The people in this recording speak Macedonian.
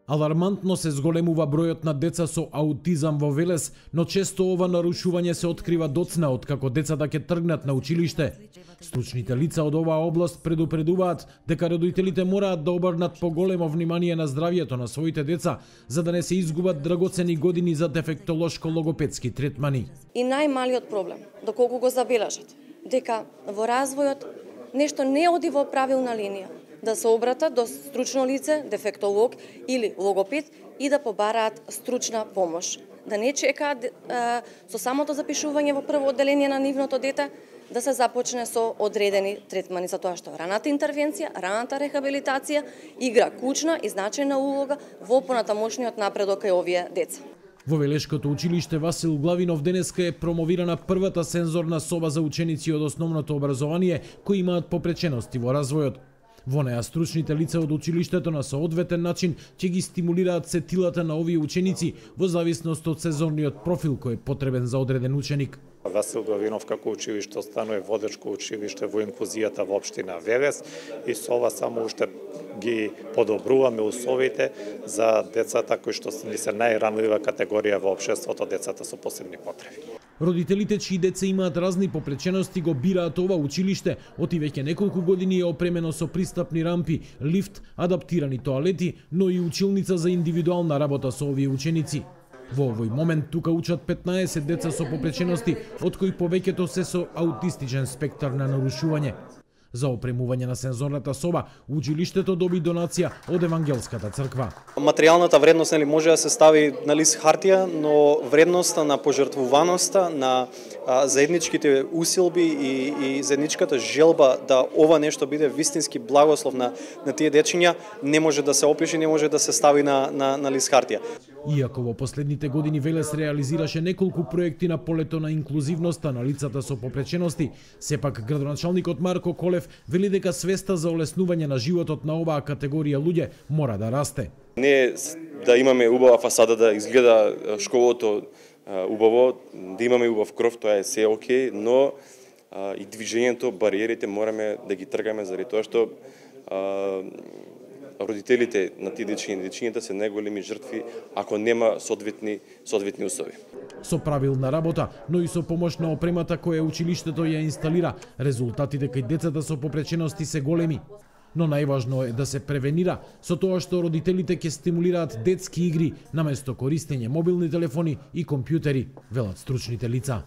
Алармантно се зголемува бројот на деца со аутизам во Велес, но често ова нарушување се открива доцна откако децата ќе тргнат на училиште. Стручните лица од оваа област предупредуваат дека родителите мораат да обрнат поголемо внимание на здравјето на своите деца, за да не се изгубат драгоцени години за дефектолошко-логопедски третмани. И најмалиот проблем, доколку го забележат, дека во развојот нешто не оди во правилна линија, да се обратат до стручно лице, дефектолог или логопед и да побараат стручна помош. Да не чекаат со самото запишување во прво одделение на нивното дете, да се започне со одредени третмани, за тоа што раната интервенција, раната рехабилитација игра клучна и значајна улога во понатамошниот напредок кај овие деца. Во Велешкото училиште Васил Главинов денеска е промовирана првата сензорна соба за ученици од основното образование кои имаат попречености во развојот. Во неа стручните лица од училиштето на соодветен начин ќе ги стимулираат сетилата на овие ученици во зависност од сезонниот профил кој е потребен за одреден ученик. Васил Главинов како училиште останува водечко училиште во инклузијата во општина Велес и со ова само уште ги подобруваме условите за децата кои што ни се најранлива категорија во општеството, децата со посебни потреби. Родителите чии деца имаат разни попречености го бираат ова училиште, оти веќе неколку години е опремено со пристапни рампи, лифт, адаптирани тоалети, но и училница за индивидуална работа со овие ученици. Во овој момент тука учат 15 деца со попречености, од кои повеќето се со аутистичен спектар на нарушување. За опремување на сензорната соба, училиштето доби донација од Евангелската црква. Материјалната вредност може да се стави на лист хартија, но вредноста на пожртвуваноста, на заедничките усилби и заедничката желба да ова нешто биде вистински благослов на тие дечиња не може да се опише, не може да се стави на лист хартија. Иако во последните години Велес реализираше неколку проекти на полето на инклузивноста на лицата со попречености, сепак градоначалникот Марко Колев вели дека свеста за олеснување на животот на оваа категорија луѓе мора да расте. Не да имаме убава фасада, да изгледа школото убаво, да имаме убав кров, тоа е се окей, но и движењето, бариерите мораме да ги тргаме заради тоа што родителите на тие дечиња и дечињата се најголеми жртви ако нема соодветни услови. Со правилна работа, но и со помош на опремата која училиштето ја инсталира, резултатите кај децата со попречености се големи. Но најважно е да се превенира со тоа што родителите ќе стимулираат детски игри наместо користење мобилни телефони и компјутери, велат стручните лица.